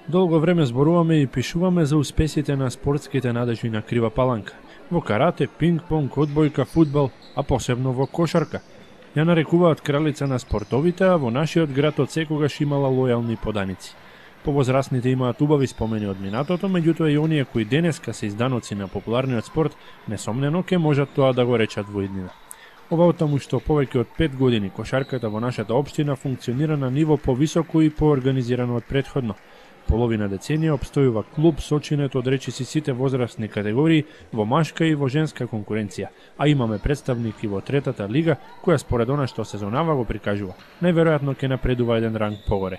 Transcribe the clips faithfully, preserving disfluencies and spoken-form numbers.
Долго време зборуваме и пишуваме за успесите на спортските надежи на Крива Паланка. Во карате, пинг-понг, одбојка, фудбал, а посебно во кошарка. Ја нарекуваат кралица на спортовите, а во нашиот град од секогаш имала лојални поданици. Повозрастните имаат убави спомени од минатото, меѓутоа и оние кои денеска се изданоци на популарниот спорт, несомнено ке можат тоа да го речат во иднина. Ова оттаму што повеќе од пет години кошарката во нашата општина функционира на ниво повисоко и поорганизирано од претходно. Половина деценија обстојува клуб сочинет од речиси сите возрастни категории во машка и во женска конкуренција, а имаме представник и во третата лига, која според она што сезонава го прикажува. Најверојатно ќе напредува еден ранг погоре.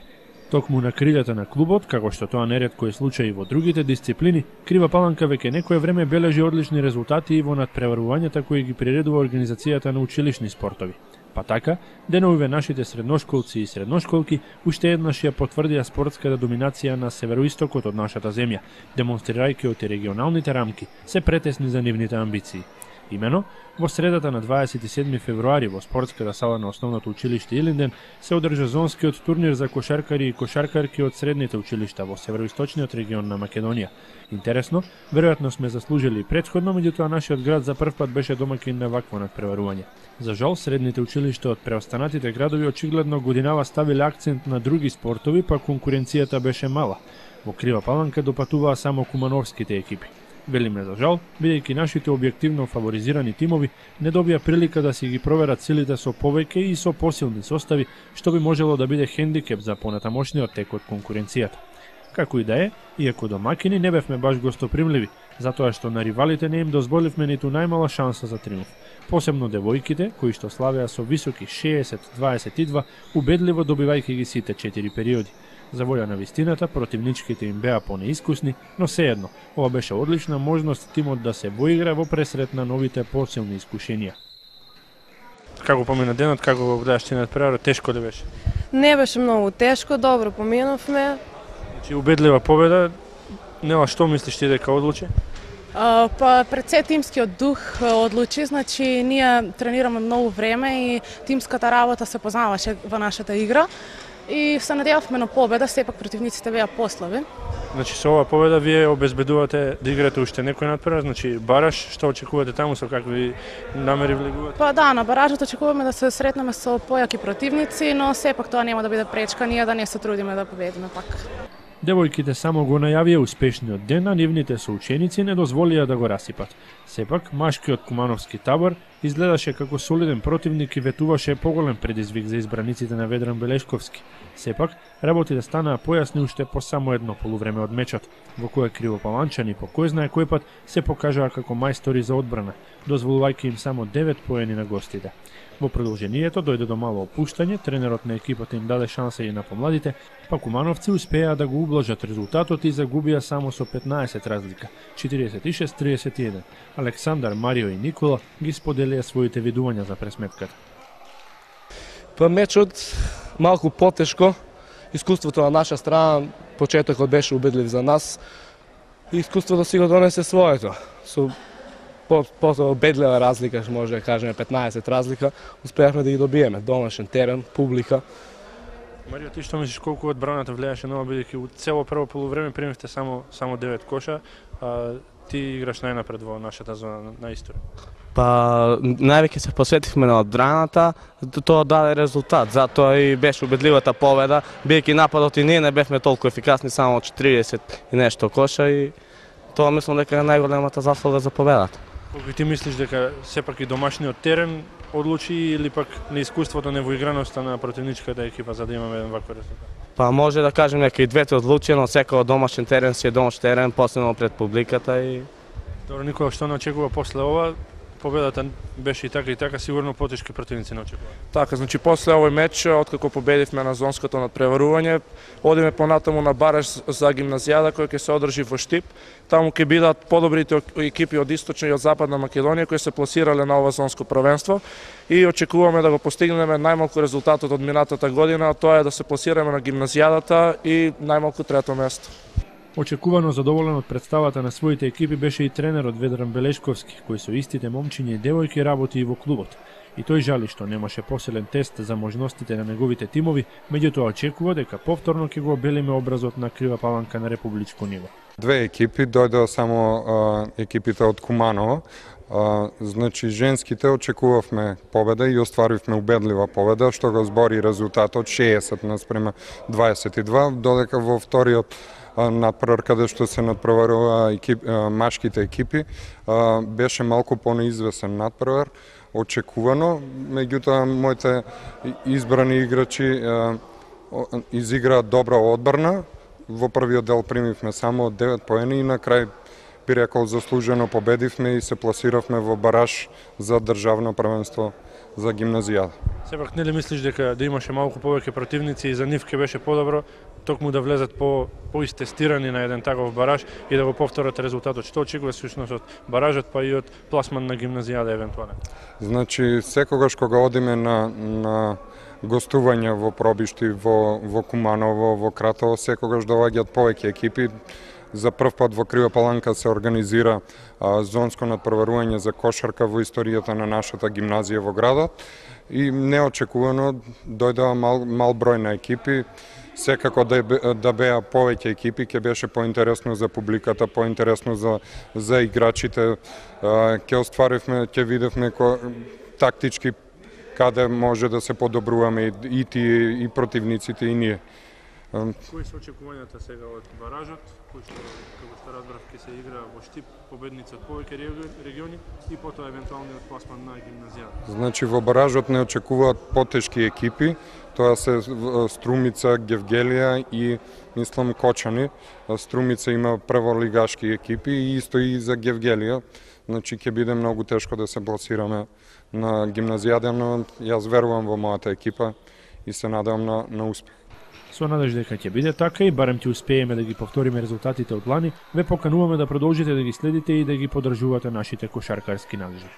Токму на крилјата на клубот, како што тоа неретко е случај и во другите дисциплини, Крива Паланка веќе некое време бележи одлични резултати и во надпреварувањата кои ги приредува организацијата на училишни спортови. Па така, деновиве нашите средношколци и средношколки уште еднаш ја потврдија спортската доминација на североистокот од нашата земја, демонстрирајќи од регионалните рамки се претесни за нивните амбиции. Имено, во средата на дваесет и седми февруари во спортската сала на основното училиште Илинден се одржа зонскиот турнир за кошаркари и кошаркарки од средните училишта во североисточниот регион на Македонија. Интересно, веројатно сме заслужили и претходно, меѓутоа нашиот град за прв пат беше домаќин на вакво надпреварување. За жал, средните училишта од преостанатите градови очигледно годинава ставиле акцент на други спортови, па конкуренцијата беше мала. Во Крива Паланка допатуваа само кумановските екипи. Велиме за жал, бидејќи нашите објективно фаворизирани тимови не добија прилика да си ги проверат силите со повеќе и со посилни состави, што би можело да биде хендикеп за понатамошниот тек од конкуренцијата. Како и да е, иако домакини не бевме баш гостопримливи, затоа што на ривалите не им дозволивме ниту најмала шанса за триумф. Посебно девојките, кои што славеа со високи шеесет дваесет и два, убедливо добивајќи ги сите четири периоди. За волја на вистината, противничките им беа понеискусни, но сеедно, ова беше одлична можност тимот да се воигра во пресрет на новите посилни искушенија. Како помина денот, како го гледаш ти надпреварот, тешко ли беше? Не беше многу тешко, добро поминавме. Значи убедлива победа, нела што мислиш ти дека одлучи? Uh, па пред се тимскиот дух uh, одлучи, значи ние тренираме многу време и тимската работа се познаваше во нашата игра и се надевавме на победа, сепак противниците беа послаби. Значи со оваа победа вие обезбедувате да играте уште некој надпревар, значи бараж, што очекувате таму, со какви намери влегувате? Па да, на баражот очекуваме да се сретнеме со појаки противници, но сепак тоа нема да биде пречка ние да не се трудиме да победиме пак. Девојките само го најавија успешниот ден, а нивните соученици не дозволија да го расипат. Сепак, машкиот кумановски табор изгледаше како солиден противник и ветуваше поголем предизвик за избраниците на Ведран Белешковски. Сепак, работите станаа појасни уште по само едно полувреме од мечот, во кое кривопаланчани по кој знае кој пат се покажаа како мајстори за одбрана, дозволувајќи им само девет поени на гостите. Во продолжението дојде до мало опуштање, тренерот на екипата им даде шанса и на помладите, па кумановци успеа да го ублажат резултатот и загубија само со петнаесет разлика, четириесет и шест триесет и еден. Александар, Марио и Никола ги споделија своите видувања за пресметката. Па мечот малку потешко, искуството на наша страна, почетокот беше убедлив за нас, и искуството си го донесе своето. Со по-убедлива разлика, може да кажеме петнаесет разлика, успеавме да ги добиеме. Домашен терен, публика. Марио, ти што мислиш колку одбраната влијаше на ова, бидејќи у цело прво полувреме примивте само само девет коша, а ти играш најнапред во нашата зона на историја? Па највеќе се посветивме на одбраната, тоа даде резултат, затоа и беше убедливата победа, бидејќи нападот и ние не бевме толку ефикасни, само четириесет и нешто коша и тоа мислам дека е најголемата заслуга за победата. Колку ти мислиш дека сепак и домашниот терен одлучи или пак неискуството, невоиграноста на противничката екипа за да имаме еден ваков резултат? Па може да кажем дека и двете одлучи, но секој домашен терен си е домашен терен, посебно пред публиката и... Добро, Никола, што не очекува после ова? Победата беше и така и така, сигурно потешки противници не очекува. Така, значи после овој меч, откако победивме на зонското надпреварување, одиме понатаму на бараж за гимназијада кој ќе се одржи во Штип. Таму ќе бидат подобрите екипи од Источна и од Западна Македонија кои се пласирале на ова зонско првенство и очекуваме да го постигнеме најмалку резултатот од минатата година, а тоа е да се пласираме на гимназијадата и најмалку трето место. Очекувано задоволен од представата на своите екипи беше и тренерот Ведран Белешковски, кој со истите момчиња и девојки работи и во клубот. И тој жали што немаше посилен тест за можностите на неговите тимови, меѓутоа очекува дека повторно ќе го обелиме образот на Крива Паланка на републичко ниво. Две екипи, дојдоа само а, екипите од Куманово. А, значи, женските очекувавме победа и остваривме убедлива победа, што го збори резултатот шеесет наспрема дваесет и два, додека во вториот надпревар, каде што се надпреварува екип, а, машките екипи, а, беше малку понеизвесен надпревар, очекувано, меѓутоа моите избрани играчи а, изиграа добра одбрана. Во првиот дел примивме само девет поени и на крај би рекол заслужено победивме и се пласиравме во бараж за државно првенство за гимназијада. Сепак нели мислиш дека да имаше малку повеќе противници и за нив ке беше подобро токму да влезат по поистестирани на еден таков бараж и да го повторат резултатот? Што очекуваш всушност од баражот па и од пласман на гимназијада евентуално? Значи секогаш кога одиме на на гостување во пробишти во во Куманово, во Кратово, секогаш доаѓаат повеќе екипи. За прв пат во Крива Паланка се организира а, зонско надпреварување за кошарка во историјата на нашата гимназија во градот и неочекувано дојдоа мал, мал број на екипи. Секако да, да беа повеќе екипи, ќе беше поинтересно за публиката, поинтересно за, за играчите. Ќе остваривме, ќе видевме ко, тактички каде може да се подобруваме и, и тие, и противниците, и ние. Кои се очекувањата сега од баражот, кој што, како што разбрав, ќе се игра во Штип, победници од повеќе региони и потоа евентуалниот пласман на гимназијата? Значи во баражот не очекуваат потешки екипи, тоа се Струмица, Гевгелија и мислам Кочани. Струмица има прволигашки екипи и исто и за Гевгелија. Значи ќе биде многу тешко да се пласираме на гимназијада, но јас верувам во мојата екипа и се надевам на, на успех. Со надеж дека ќе биде така и барем ќе успееме да ги повториме резултатите од лани, ве покануваме да продолжите да ги следите и да ги поддржувате нашите кошаркарски надежи.